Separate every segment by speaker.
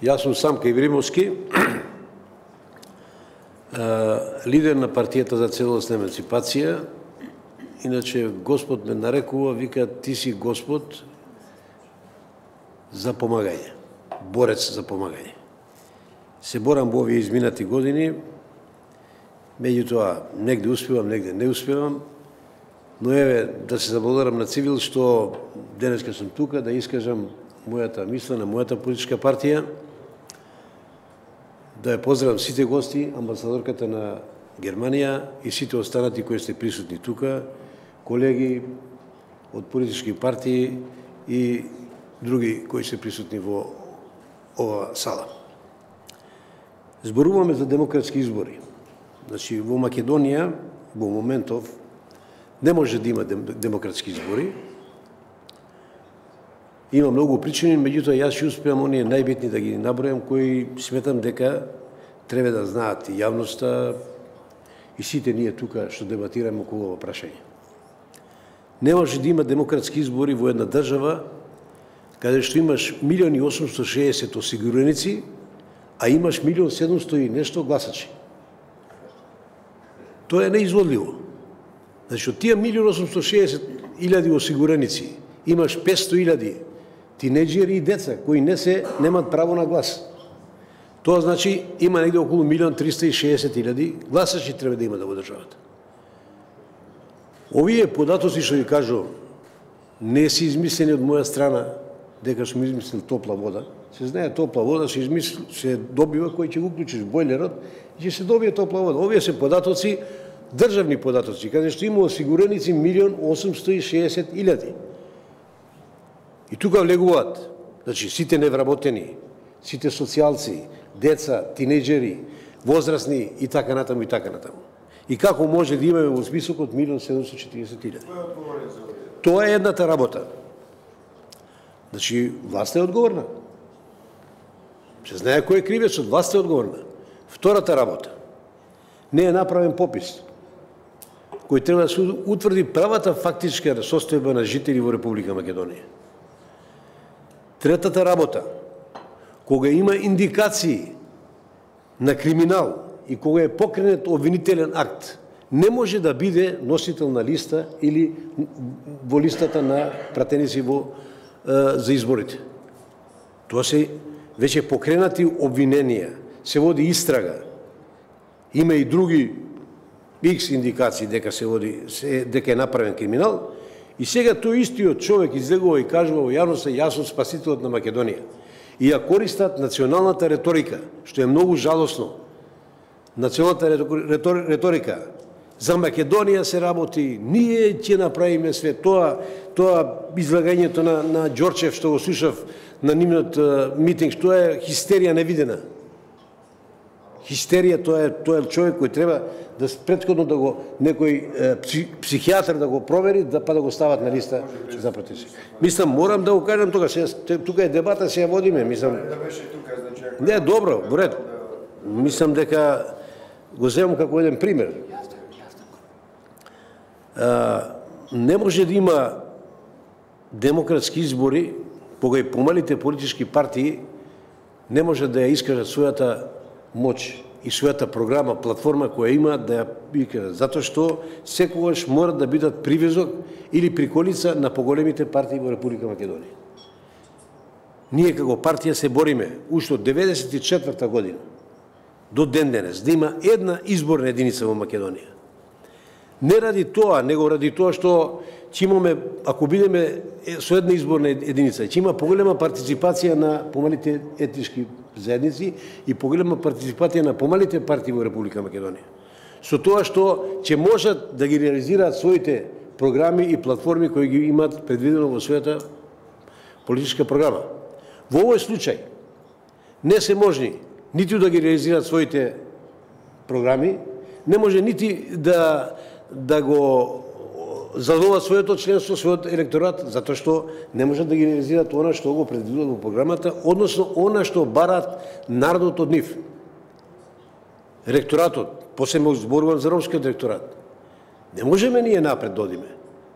Speaker 1: Јас сум Самка Ибримовски, лидер на партијата за целосна емансипација. Иначе Господ ме нарекува, вика, ти си Господ за помагање, борец за помагање. Се борам во овие изминати години, меѓутоа негде успевам, негде не успевам, но еве да се заблагодарам на Цивил што денеска сум тука да искажам мојата мисла на мојата политичка партија, да ја поздравам сите гости, амбасадорката на Германија и сите останати кои сте присутни тука, колеги од политички партии и други кои се присутни во ова сала. Зборуваме за демократски избори. Значи, во Македонија, во моментов, не може да има демократски избори. Има многу причини, меѓутоа јас ќе успеам оние најбитни да ги набројам, кои сметам дека треба да знаат и јавноста и сите ние тука што дебатираме околу ова прашање. Не може да има демократски избори во една држава каде што имаш 1.860.000 осигуреници, а имаш 1.700.000 и нешто гласачи. Тоа е неизводливо. Значи, од тие 1.860.000 осигуреници имаш 500.000 тинеџери и деца кои немаат право на глас. Тоа значи има негде околу 1.360.000 гласачи треба да има во државата. Овие податоци што ви кажувам не се измислени од моја страна, дека сум измислил топла вода. Се знае топла вода се добива кој ќе го уклучиш бойлерот и ќе се добие топла вода. Овие се податоци, државни податоци, каде што има осигуреници 1.860.000. И тука влегуваат, значи, сите невработени, сите социјалци, деца, тинеџери, возрастни и така натаму и така натаму. И како може да имаме во список од 1.740.000? Тоа е едната работа. Значи, власта е одговорна. Се знае кој е кривецот, власта е одговорна. Втората работа. Не е направен попис кој треба да се утврди правата фактичка состојба на жители во Република Македонија. Третата работа. Кога има индикации на криминал и кога е покренет обвинителен акт, не може да биде носител на листа или во листата на пратеници за изборите. Тоа се веќе покренати обвиненија, се води истрага. Има и други X индикации дека дека е направен криминал, и сега тој истиот човек излегува и кажува во јавноста: јас сум спасителот на Македонија. И ја користат националната реторика, што е многу жалосно. Националната реторика за Македонија се работи, ние ќе направиме све. Тоа излагањето на Ѓорчев што го слушав на нивниот митинг, тоа е хистерија невидена. Хистерија, тоа е човек кој треба да претходно да го некој психијатар да го провери, па да го стават на листа за пратеници. Мислам, морам да го кажам тука, тука е дебата, се ја водиме, мислам. Не, добро, во ред. Мислам дека го земам како еден пример. Не може да има демократски избори кога и помалите политички партии не може да ја искажат својата моќ и својата програма, платформа која има да ја викажат, затоа што секогаш мора да бидат привезок или приколица на поголемите партии во Република Македонија. Ние како партија се бориме уште од 1994 година до ден денес да има една изборна единица во Македонија. Не ради тоа, него ради тоа што ќе имаме, ако бидеме со една изборна единица, ќе има поголема партиципација на помалите етнички заедници и поголема партиципација на помалите партии во Република Македонија. Со тоа што ќе можат да ги реализираат своите програми и платформи кои ги имаат предвидено во својата политичка програма. Во овој случај не се можни ниту да ги реализираат своите програми, не може нити да го задоволат своето членство, својот електорат, затоа што не можат да ги реализираат она што го предвидуваат во програмата, односно она што бараат народот од нив. Електоратот, посебно зборувам за ромскиот електорат. Не можеме ние напред да одиме.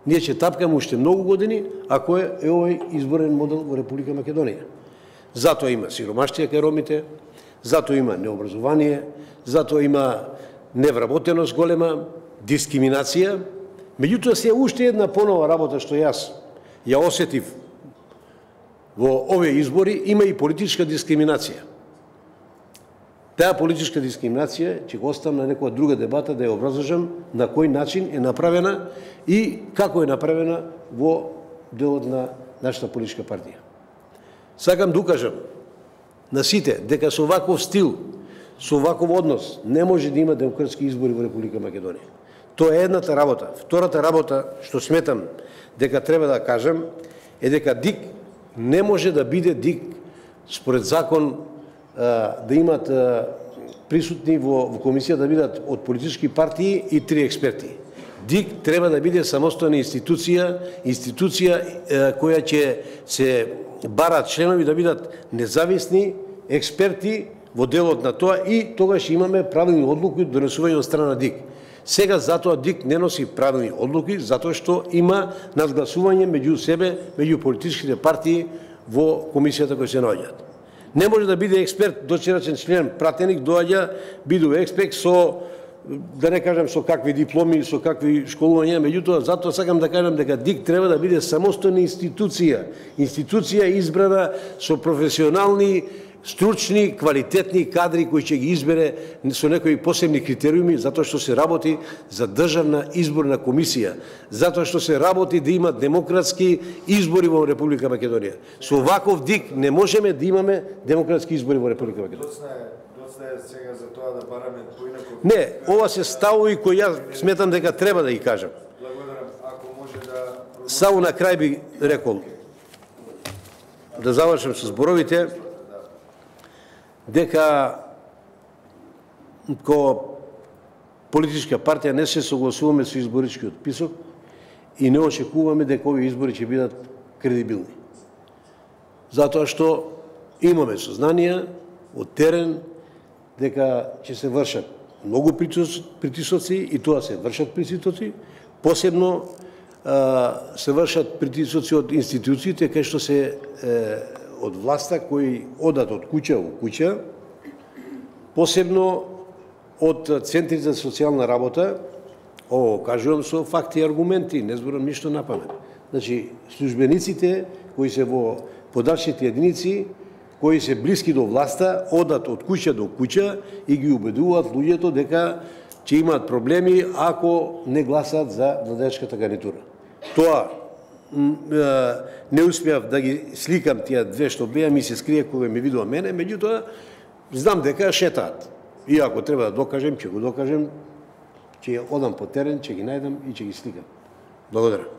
Speaker 1: Ние ќе тапкаме уште многу години ако е овој изборен модел во Република Македонија. Затоа има сиромаштија кај ромите, затоа има необразование, затоа има невработеност голема, дискриминација. Меѓутоа се уште една понова работа што јас ја осетив во овие избори, има и политичка дискриминација. Таа политичка дискриминација ќе го оставам на некоја друга дебата да ја образложам на кој начин е направена и како е направена во делот на нашата политичка партија. Сакам да укажам на сите дека со ваков стил, со ваков однос не може да има демократски избори во Република Македонија. Тоа е едната работа. Втората работа што сметам дека треба да кажам е дека ДИК не може да биде ДИК според закон да имат присутни во комисија да бидат од политички партии и 3 експерти. ДИК треба да биде самостојна институција која ќе се барат членови да бидат независни експерти во делот на тоа и тогаш имаме правилни одлуки донесување од страна на ДИК. Сега затоа ДИК не носи правилни одлуки, затоа што има надгласување меѓу себе, меѓу политичките партии во комисијата кои се наоѓаат. Не може да биде експерт, дочерачен член, пратеник, доаѓа, бидува експерт со, да не кажам со какви дипломи, со какви школувања, меѓутоа затоа сакам да кажам дека ДИК треба да биде самостојна институција избрана со професионални, стручни, квалитетни кадри кои ќе ги избере со некои посебни критериуми, затоа што се работи за државна изборна комисија, затоа што се работи да има демократски избори во Република Македонија. Со ваков ДИК не можеме да имаме демократски избори во Република Македонија.
Speaker 2: Доцна е сега за тоа да бараме поинаков.
Speaker 1: Не, ова се ставови кои јас сметам дека треба да ги кажам.
Speaker 2: Благодарам. Ако може да...
Speaker 1: Само на крај би рекол, да завршам со зборовите, дека ко политичка партија не се согласуваме со изборичкиот список и не очекуваме дека овие избори ќе бидат кредибилни. Затоа што имаме сознание од терен дека ќе се вршат многу притисоци и тоа се вршат притисоци, посебно се вршат притисоци од институциите кај што се од власта кои одат од куќа во куќа, посебно од центрите за социјална работа, ово кажувам со факти и аргументи, не зборам ништо на памет. Значи, службениците кои се во подачните единици, кои се блиски до власта, одат од куќа до куќа и ги убедуваат луѓето дека ќе имаат проблеми ако не гласат за владеачката гарнитура. Тоа не успеав да ги сликам тие две што беа, ми се скрие кога ме видува мене, меѓутоа знам дека шетаат. И ако треба да докажем, ќе го докажем, ќе одам по терен, ќе ги најдам и ќе ги сликам. Благодарам.